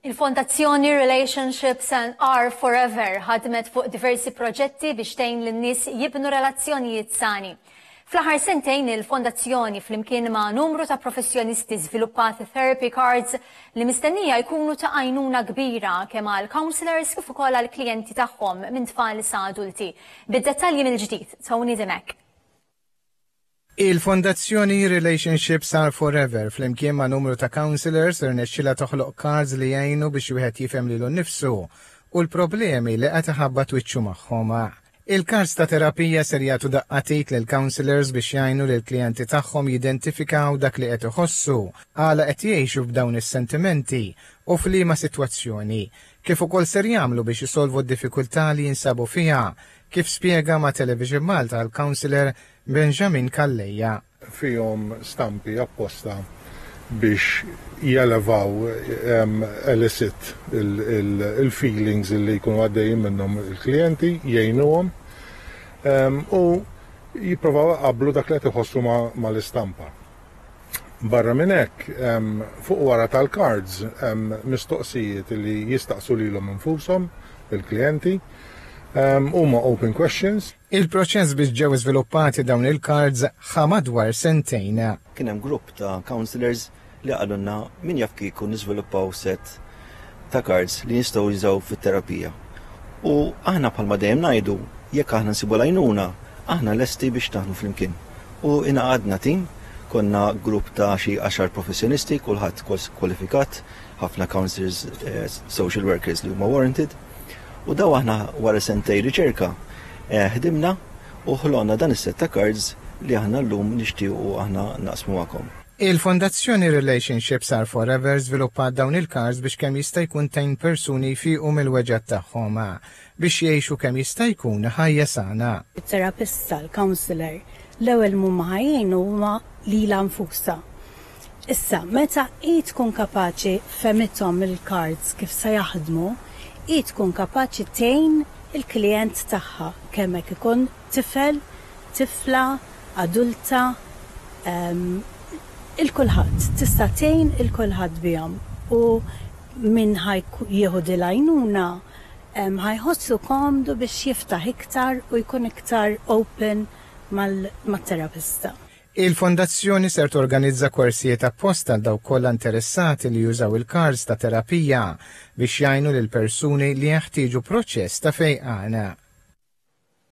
Il-Fondazzjoni Relationships and Are Forever ħadmet fuq diversi proġetti biex tgħin lin-nies jibnu relazzjonijiet sani. Fl-aħħar sentejn il-Fondazzjoni flimkien ma' numru ta' professjonisti żviluppat therapy cards li mistennija jkunu ta' għajnuna kbira kemm għal counselors kif ukoll għal klijenti tagħhom minn tfal sa adulti. Bid-dettalji mill-ġdid, Tony Dimech. Il-Fondazzjoni Relationships Are Forever flimkien ma' numru ta' counselors irnexxilha toħloq cards li jgħinu biex wieħed jifhem lilu nnifsu u l-problemi li qed iħabbat wiċċu magħhom. Il-cards ta' terapija ser jagħtu daqqa t'id lill-counselors biex jgħinu lill-klijenti tagħhom jidentifikaw dak li qed iħossu, għala qed jgħixu b'dawn is-sentimenti u f'liema sitwazzjoni, kif ukoll ser jagħmlu biex isolvu d-diffikultà li jinsabu fiha, kif spjega ma' Television Malta l-counselor Benjamin Calleja. Fihom stampi apposta biex jelevaw, elicit, il-feelings li jkunu għaddejjin minnhom il-klijenti, jgħinuhom u jipprovaw iqabblu dak li qed iħossu mal-istampa. Barra minn hekk, fuq wara tal-cards hemm mistoqsijiet li jistaqsu lilhom infushom il-klijenti. Huma open questions. Il-proċess biex ġew iżviluppati dawn il-cards ħa madwar sentejn. Kien hemm grupp ta' councillors li qalulna min jaf kieku niżviluppaw set ta' cards li nistgħu jużaw fit-terapija. U aħna bħalma dejjem ngħidu, jekk aħna nsibu l-għajnuna, aħna lesti biex naħdmu flimkien. U ingħaqadna tim, konna grupp ta' xi għaxar professjonisti, kulħadd kwalifikat, ħafna counsellors, social workers li huma warranted. U daw aħna wara sentej riċerka ħdimna u ħloqna dan is-set ta' cards li aħna llum nixtiequ aħna naqsmu magħkom. Il-Fondazzjoni Relationships Are Forever żviluppat dawn il-cards biex kemm jista' jkun tgħin persuni jfiqu mill-weġgħat tagħhom biex jgħixu kemm jista' jkun ħajja sana. It-terapista, l-counsellor, l-ewwel m'huma ħa jgħinu huma lilha nfusha. Issa, meta hi tkun kapaċi fehmithom il-cards kif se jaħdmu, hi tkun kapaċi tgħin il-klijent tagħha kemm hekk ikun tifel, tifla, adulta, 'il kulħadd, tista' tgħin 'il kulħadd bihom u min ħa jieħu din l-għajnuna ħa jħossu komdu biex jiftaħ iktar u jkun iktar open mat-terapista. Il-Fondazzjoni ser torganizza korsijiet apposta għal dawk kollha interessati li jużaw il-cards ta' terapija biex jgħinu lil persuni li jeħtieġu proċess ta' fejqan.